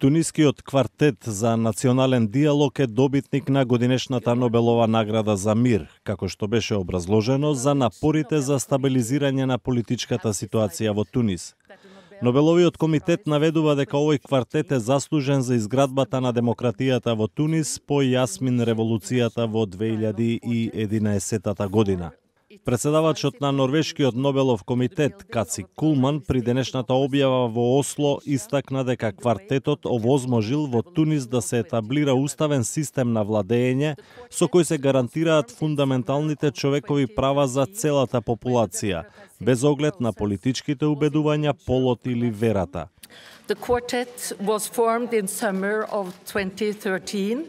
Тунискиот квартет за национален диалог е добитник на годинешната Нобелова награда за мир, како што беше образложено за напорите за стабилизирање на политичката ситуација во Тунис. Нобеловиот комитет наведува дека овој квартет е заслужен за изградбата на демократијата во Тунис по јасмин револуцијата во 2011 година. Председавачот на Норвешкиот Нобелов комитет Каци Кулман при денешната објава во Осло истакна дека квартетот овозможил во Тунис да се етаблира уставен систем на владење со кој се гарантираат фундаменталните човекови права за целата популација, без оглед на политичките убедувања, полот или верата. The quartet was formed in summer of 2013.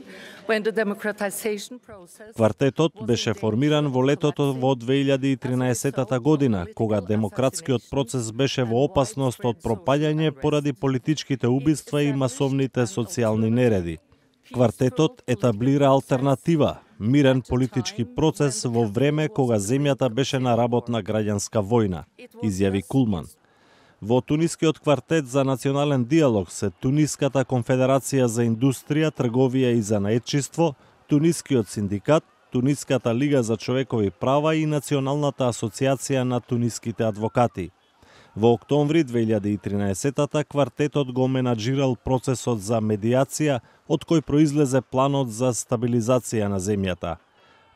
Квартетот беше формиран во летото во 2013 година, кога демократскиот процес беше во опасност од пропаѓање поради политичките убиства и масовните социјални нереди. Квартетот етаблира алтернатива, мирен политички процес во време кога земјата беше на работна граѓанска војна, изјави Кулман. Во Тунискиот квартет за национален диалог се Туниската конфедерација за индустрија, трговија и занаетчиство, Тунискиот синдикат, Туниската лига за човекови права и Националната асоциација на туниските адвокати. Во октомври 2013 квартетот го менаџирал процесот за медиација, од кој произлезе планот за стабилизација на земјата.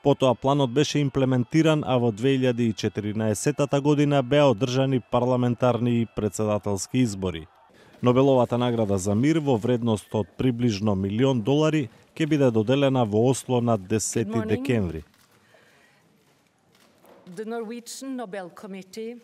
Потоа планот беше имплементиран, а во 2014 година беа одржани парламентарни и председателски избори. Нобеловата награда за мир во вредност од приближно $1.000.000 ќе биде доделена во Осло на 10 декември. The Norwegian Nobel Committee